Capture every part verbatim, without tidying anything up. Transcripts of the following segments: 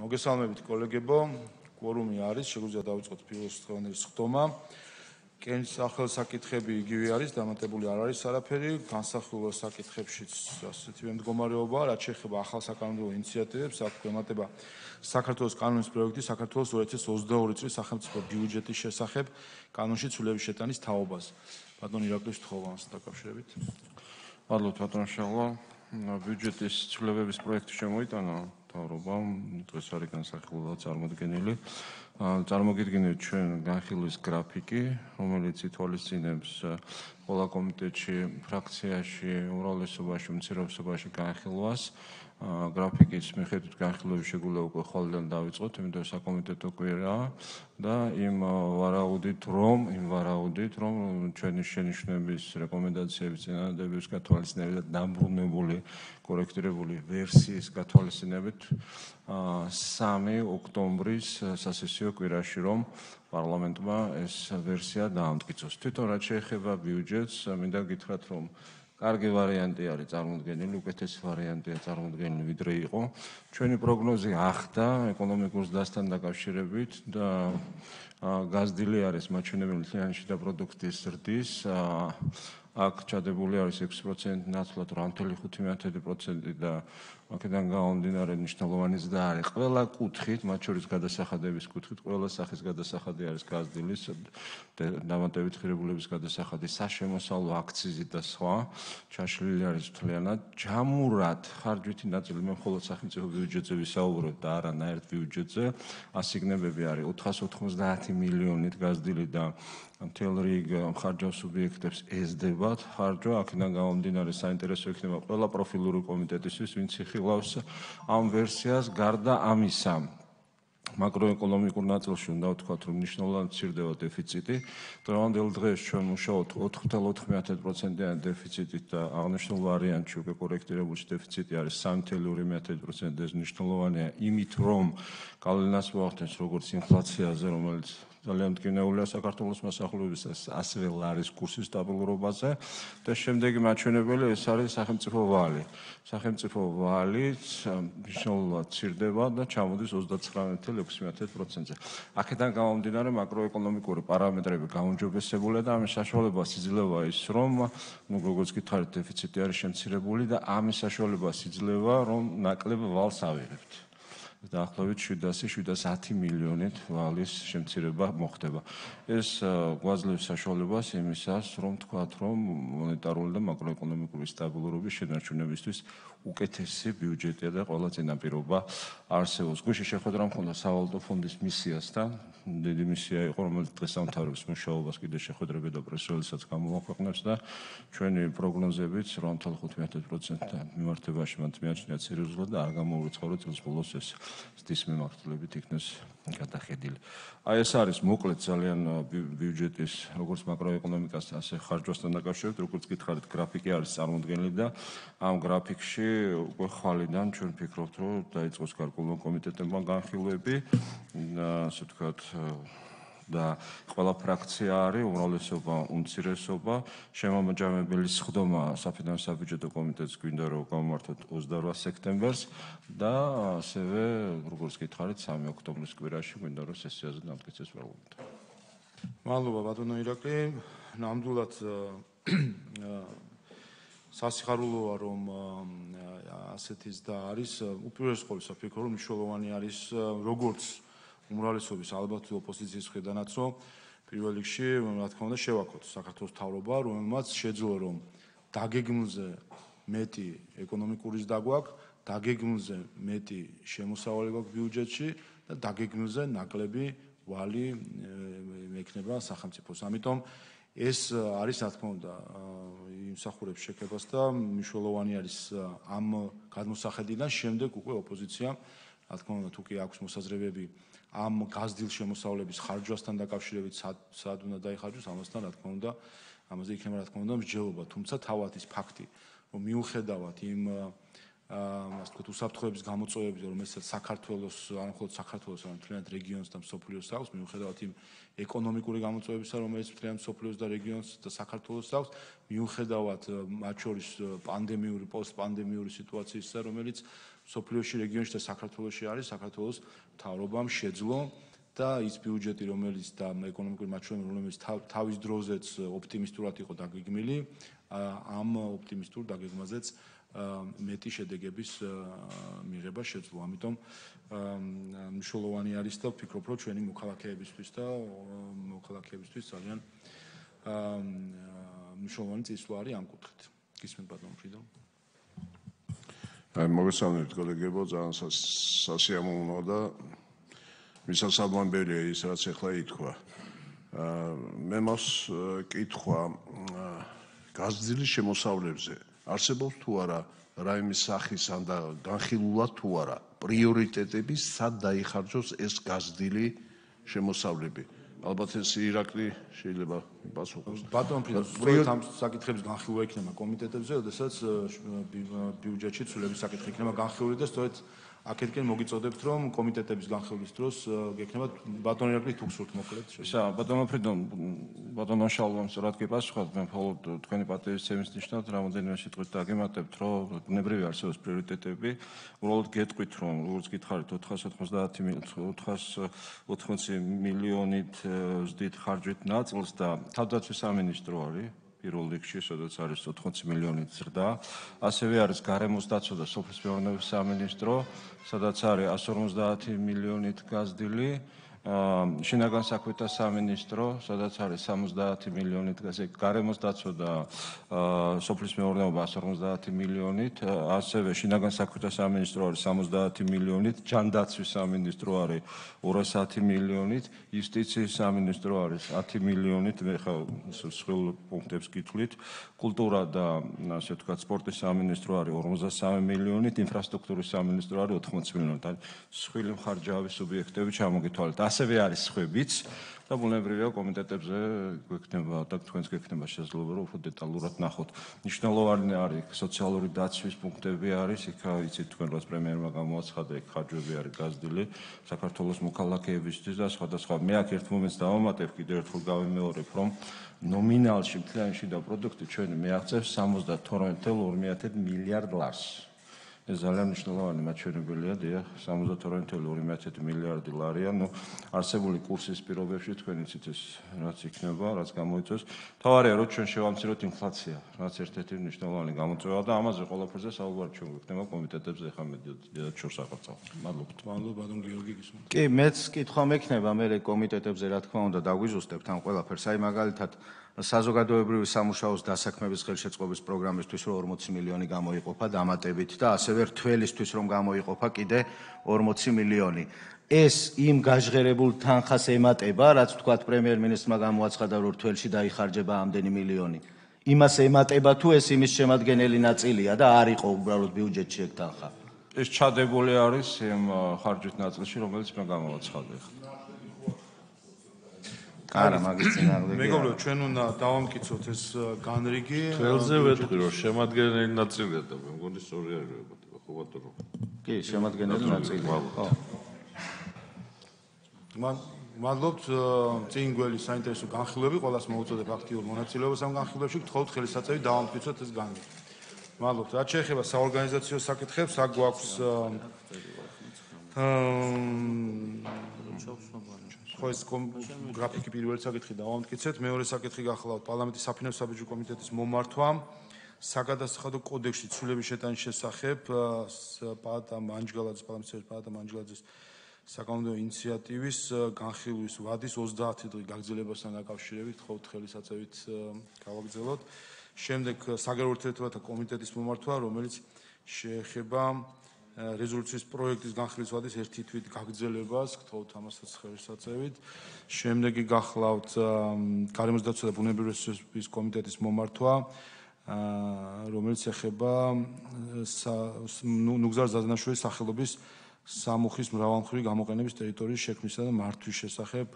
მოგესალმებით კოლეგებო, კვორუმი არის, შეგვიძლია დავიწყოთ პირველი დღევანდელი სხდომა. კენჭის სახელსაკითხები იგივე არის, დამატებული არ არის არაფერი, განსახილველ საკითხებშიც ასეთივე მდგომარეობა, რაც შეეხება ახალ საკანონმდებლო ინიციატივებს, აქ ემატება საქართველოს კანონის პროექტი საქართველოს ორი ათი ოცდაორი წლის სახელმწიფო ბიუჯეტის შესახებ კანონში ცვლილების შეტანის თაობას. ბატონ ირაკლი შთხოვა ამასთან დაკავშირებით. მადლობთ ბატონ შალვა. ბიუჯეტის ცვლილებების პროექტი შემოიტანა მთავრობამ, დღეს არის განსახილველი წარმოდგენილი. წარმოგიდგენთ ჩვენ განხილვის გრაფიკი, რომელიც ითვალისწინებს ყველა კომიტეტში, ფრაქციაში, უმრავლესობაში, უმცირესობაში განხილვას. გრაფიკის მიხედვით განხილვების შეგვიძლია უკვე ხვალიდან დავიწყოთ, იმიტომ საკომიტეტო კვირაა და იმ ვარაუდით, რომ იმ ვარაუდით, რომ ჩვენი შენიშვნების რეკომენდაციების წინადადების გათვალისწინებით და დამბრუნებული კორექტირებული ვერსიის გათვალისწინებით სამი ოქტომბრის სასესიო კვირაში რომ პარლამენტმა ეს ვერსია დაამტკიცოს. თვითონ რაც შეეხება ბიუჯეტს, მინდა გითხრათ, რომ კარგი ვარიანტი არის წარმოდგენილი, უკეთესი ვარიანტია წარმოდგენილი, ვიდრე იყო. ჩვენი პროგნოზი ახდა ეკონომიკურ ზრდასთან დაკავშირებით და გაზრდილი არის მაჩვენებელი მთლიანი შიდა პროდუქტის ზრდის. აქ ჩადებული არის ექვსი პროცენტი ნაცვლად რვა ათეული ხუთი პროცენტი და აქედან გამომდინარე მნიშვნელოვანი ზრდა არის ყველა კუთხით, მათ შორის გადასახადების კუთხით, ყველა სახის გადასახადი არის გაზრდილი, დამატებით ღირებულების გადასახადი, საშემოსავლო აქციზი და სხვა ჩაშლილი არის მთლიანად. ჯამურად ხარჯვითი ნაწილი მე მხოლოდ სახელმწიფო ბიუჯეტზე ვისაუბრებ და არანაირ ბიუჯეტზე, ასიგნებები არის ოთხას ოთხმოცდაათი მილიონით გაზრდილი და მთელ რიგ ხარჯავ სუბიექტებს ესდებათ ხარჯვა, აქედან გამომდინარე საინტერესო იქნება ყველა პროფილური კომიტეტისთვის, ვინც იხილავს ამ ვერსიას. გარდა ამისა, მაკროეკონომიკურ ნაწილში უნდა ვთქვათ, რომ მნიშვნელოვნად მცირდება დეფიციტი. დღევანდელ დღეს ჩვენ მუშაობთ ოთხი ათეული ოთხ პროცენტიანი დეფიციტით და აღნიშნულ ვარიანტში უკვე კორექტირებული დეფიციტი არის სამი ათეული ორი პროცენტი. ეს მნიშვნელოვანია იმით, რომ გავლენას მოახდენს როგორც ინფლაციაზე, რომელიც ძალიან მტკივნეულია საქართველოს მოსახლეობისას, ასევე ლარის კურსის სტაბილურობაზე და შემდეგი მაჩვენებელი ეს არის სახელმწიფო ვალი. სახელმწიფო ვალიც მნიშვნელოვნად ცირდება და ჩამოდის ოცდათვრამეტი ათეული ექვსი პროცენტზე. აქედან გამომდინარე მაკროეკონომიკური პარამეტრები გაუმჯობესებულია და ამის საშუალებას იძლევა ის, რომ ნუ როგორც გითხარით, დეფიციტი არის შემცირებული და ამის საშუალებას იძლევა, რომ ნაკლებ ვალს ავიღებთ. დაახლოებით შვიდასი შვიდას ათი მილიონით ვალის შემცირება მოხდება. ეს გვაძლევს საშუალებას იმისას, რომ თქვათ, რომ მონეტარული და მაკროეკონომიკური სტაბილურობის შენარჩუნებისთვის უკეთესი ბიუჯეტია და ყველა წინაპირობა არსებობს. გვიში შეხვედრა მქონდა სავალუტო ფონდის მისიასთან. დიდი მისია იყო, რომელიც დღეს ამთავრებს მუშაობას, კიდე შეხვედრები და პრესრელისსაც გამოაქვეყნებს და ჩვენი პროგნოზებით რვა ათეული ხუთი პროცენტთან მიმართებაში მათ მიაჩნიათ სერიოზულად და არ გამოურიცხავ, რომ წელს ბოლოს ეს ზრდის მიმართულებით იქნეს გადახედილი. აი ეს არის მოკლედ ძალიან ბიუჯეტის როგორც მაკროეკონომიკასთან, ასე ხარჯვასთან დაკავშირებით, როგორც გითხარით, გრაფიკი არის წარმოდგენილი და ამ გრაფიკში უკვე ხვალიდან ჩვენ ვფიქრობთ, რომ დაიწყოს გარკვეულმა კომიტეტებმა განხილვები, ასე ვთქვათ, და ყველა ფრაქცია არის, უმრავლესობა, უმცირესობა, შემამოჯამებელი სხდომა საფინანსო საბიუჯეტო კომიტეტს გვინდა რომ გამართოთ ოცდარვა სექტემბერს და ასევე, როგორც გითხარით, სამი ოქტომბრის კვირაში გვინდა რომ სესიაზე დამტკიცდეს პარლამენტი. მადლობა ბატონო ირაკლი. ნამდვილად სასიხარულოა რომ ასეთი ზრდა არის. უპირველეს ყოვლისა ვფიქრობ, რომ მნიშვნელოვანი არის როგორც უმრავლესობის ალბათ ოპოზიციის მხრიდანაც, რომ პირველ რიგში, რა თქმა უნდა, შევაქოთ საქართველოს მთავრობა, რომელმაც შეძლო რომ დაგეგმილზე მეტი ეკონომიკური ზრდა გვაქვს, დაგეგმილზე მეტი შემოსავალი გვაქვს ბიუჯეტში და დაგეგმილზე ნაკლები ვალი მექნება სახელმწიფოს. ამიტომ ეს არის, რა თქმა უნდა, იმსახურებს შეკებას და მნიშვნელოვანი არის ამ გადმოსახედიდან შემდეგ უკვე ოპოზიციამ, რა თქმა უნდა, თუ კი აქვს მოსაზრებები ამ გაზრდილ შემოსავლების ხარჯვასთან დაკავშირებით სად უნდა დაიხარჯოს, ამასთან რა თქმა უნდა, ამაზე იქნება რა თქმა უნდა მსჯელობა, თუმცა თავად ის ფაქტი, რომ მიუხედავად იმ ასე ვთქვათ, უსაფრთხოების გამოწვევების, რომელსაც საქართველოს, არა მხოლოდ საქართველოს, არამედ მთლიანად რეგიონს და მსოფლიოს აქვს, მიუხედავად იმ ეკონომიკური გამოწვევებისა, რომელიც მთლიანად მსოფლიოს და რეგიონს და საქართველოს აქვს, მიუხედავად მათ შორის პანდემიური, პოსტპანდემიური სიტუაციისა, რომელიც სოფლიოში, რეგიონში და საქართველოში არის, საქართველოს მთავრობამ შეძლო და ის ბიუჯეტი, რომელიც და ეკონომიკური მაჩვენებლები, რომელიც თავის დროზეც ოპტიმისტურად იყო დაგეგმილი, ამ ოპტიმისტურ დაგეგმაზეც მეტი შედეგების მიღება შეძლო. ამიტომ მნიშვნელოვანი არის და ვფიქრობ, რომ ჩვენი მოქალაქეებისთვის და მოქალაქეებისთვის ძალიან მნიშვნელოვანი წინსვლა არის ამ კუთხით. გისმენთ ბატონო ფრიდო. აი მოგესალმებით კოლეგებო, ძალიან სასიამოვნოა და მისასალმებელია ის რაც ახლა ითქვა. მე მას კითხვა გაზრდილის შემოსავლებზე არსებობს თუ არა რაიმე სახის ან და განხილულად თუ არა პრიორიტეტები სად დაიხარჯოს ეს გაზრდილი შემოსავლები. ალბათ ეს ირაკლი შეიძლება პასუხობს. ბატონ ფრიდო, სწორედ ამ საკითხების განხილვა იქნება კომიტეტებზე, როდესაც ბიუჯეტში ცვლილების საკითხი იქნება განხილული და სწორედ აქეთკენ მოგიწოდებთ, რომ კომიტეტების განხილვის დროს გექნება ბატონ ირაკლი თუ გსურთ მოკლედ. ისა, ბატონო ფრიდო, ბატონო შალვამ სწორად გეპასუხოთ, მე მხოლოდ თქვენი პატივისცემის ნიშნად რამოდენიმე სიტყვით დაგემატებთ, რომ ბუნებრივი არსებობს პრიორიტეტები, უბრალოდ გეტყვით, რომ როგორც გითხარით ოთხას ოთხმოცი მილიონით ზრდით ხარჯვით ნაწილს და თავდაცვის სამინისტრო არის პირველ რიგში, სადაც არის ოთხმოცი მილიონით ზრდა. ასევე არის გარემოს დაცვა და სოფლის მეურნეობის სამინისტრო, სადაც არის εκατს ორმოცდაათი მილიონით გაზრდილი. შინაგან საქმეთა სამინისტრო, სადაც არის სამოცდაათი მილიონით, ასე გარემოს დაცვა და სოფლის მეურნეობა εκατს ორმოცდაათი მილიონით, ასევე შინაგან საქმეთა სამინისტრო არის სამოცდაათი მილიონით, ჯანდაცვის სამინისტრო არის ორასათი მილიონით, იუსტიციის სამინისტრო არის ათი მილიონით, მე ხა სხვილ პუნქტებს გითვლით, კულტურა და ასე ვთქვათ, სპორტის სამინისტრო არის ორმოცდასამი მილიონით, ინფრასტრუქტურის სამინისტრო არის ოთხმოცი მილიონით. სხვილი მხარჯავი სუბიექტები ჩამოგითვალეთ. ასევე არის სხვებიც და ბუნებრივია კომიტეტებზე გვექნება და თქვენს გექნება შესაძლებლობა რომ უფრო დეტალურად ნახოთ. მნიშვნელოვანი არის სოციალური დაცვის პუნქტები არის, იქ იცით თქვენ რაც პრემიერმა გამოაცხადა, იქ ხარჯვები არის გაზრდილი საქართველოს მოქალაქეებისთვის და სხვადასხვა. მე აქ ერთ მომენტს დავამატებ, კიდევ ერთხელ გავიმეორებ, რომ ნომინალში მთლიანი შიდა პროდუქტი ჩვენი მიაღწევს სამოცდათორმეტ კoma ორი მილიარდ ლარს. ეს ძალიან მნიშვნელოვანი მაჩვენებელია, დიახ, სამოცდათორმეტ კoma ორი მილიარდი ლარია, ნუ არსებული კურსის პირობებში თქვენ იცით ეს რაც იქნება, რაც გამოიწვევს. თავარია რომ ჩვენ შევამციროთ ინფლაცია, რაც ერთ-ერთი მნიშვნელოვანი გამოწვევა და ამაზე ყველაფერზე საუბარი ჩვენ გვექნება კომიტეტებზე ახლა მე დედათ შორს აღწევ. მადლობთ. მადლობა ბატონ გიორგი გისმენთ. კი, მეც კითხვა მექნება მე კომიტეტებზე რა თქმა უნდა დაგვიზუსტებთ ამ ყველაფერს. აი მაგალითად საზოგადოებრივი სამუშაოს დასაქმების ხელშეწყობის პროგრამისთვის რომ ორმოცი მილიონი გამოიყოფა დამატებით და ასევე რთველისთვის რომ გამოიყოფა კიდე ორმოცი მილიონი. ეს იმ გაჟღერებულ თანხას ემატება, რაც თქვათ პრემიერ-მინისტრმა გამოაცხადა რომ რთველში დაიხარჯება ამდენი მილიონი. იმას ემატება თუ ეს იმის შემადგენელი ნაწილია და არ იყო უბრალოდ ბიუჯეტში ეგ თანხა. ეს ჩადებული არის იმ ხარჯვით ნაწილში, რომელიც მე გამოვაცხადე. არა, მაგის წინააღმდეგ. მეგობრებო, ჩვენ უნდა დავამტკიცოთ ეს განრიგი. ხელზე ვეთქვი რომ შემადგენელი ნაწილია და მე მგონი სწორი არის ხო ბატონო. კი, შემადგენელი ნაწილია. ხო. მან მადლობთ წინ გველი საინტერესო განხილვები, ყველას მოუწოდებ აქტიურ მონაწილეობას ამ განხილვებში, გთხოვთ ხელისაწევით დავამტკიცოთ ეს განრიგი. მადლობთ. რაც შეეხება საორგანიზაციო საკითხებს, აქ გვაქვს ხო ეს გრაფიკი პირველი საკითხი დავამტკიცეთ, მეორე საკითხი გახლავთ პარლამენტის საფინანსო საბიუჯეტო კომიტეტის მომართვამ საგადასახადო კოდექსში ცვლილების შეტანის შესახებ პაატა მანჯგალაძის პარლამენტის პაატა მანჯგალაძის საკანონმდებლო ინიციატივის განხილვის ვადის ოცდაათი დღის გაგრძელებასთან დაკავშირებით ხოვთ ხელისაწევით გავაგრძელოთ. შემდეგ საგარეო ურთიერთობათა კომიტეტის მომართვა, რომელიც შეეხება რეზოლუციის პროექტის განხილვის ვადის ერთი თვით გაგრძელებას, გთხოვთ ამასაც ხელისაწევით. შემდეგი გახლავთ გარემოს დაცვა და ბუნებრივი რესურსების კომიტეტის მომართვა, რომელიც ეხება ნუგზარ ზაზნაშვილის სახელობის სამუხის მრავალმხრივი გამოყენების ტერიტორიის შექმნისა და მართვის შესახებ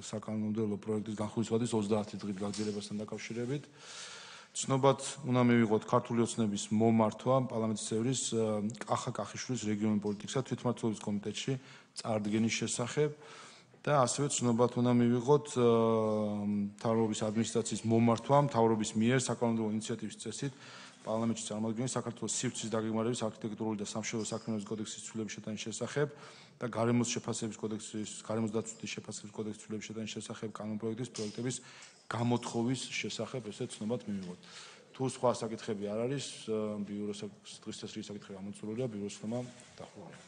საკანონმდებლო პროექტის განხილვის ვადის ოცდაათი დღის გაგრძელებასთან დაკავშირებით. ცნობად უნდა მივიღოთ ქართული ოცნების მომართვა პარლამენტის წევრის კახა კახიშვილის რეგიონული პოლიტიკისა და თვითმმართველობის კომიტეტში წარდგენის შესახებ და ასევე ცნობად უნდა მივიღოთ მთავრობის ადმინისტრაციის მომართვა მთავრობის მიერ საკანონმდებლო ინიციატივის წესით პარლამენტში წარმოადგენს საქართველოს სივრცის დაგეგმარების არქიტექტურული და სამშენებლო საქმიანობის კოდექსის ცვლილების შეტანის შესახებ და გარემოს შეფასების კოდექსის, გარემოს დაცვის შეფასების კოდექსის ცვლილების შეტანის შესახებ კანონპროექტის პროექტების გამოთხოვის შესახებ ესე ცნობად მივიღოთ. თუ სხვა საკითხები არ არის, ბიუროს დღის წესრიგი საკითხები ამოწურულია, ბიუროს ხმა დახურულია.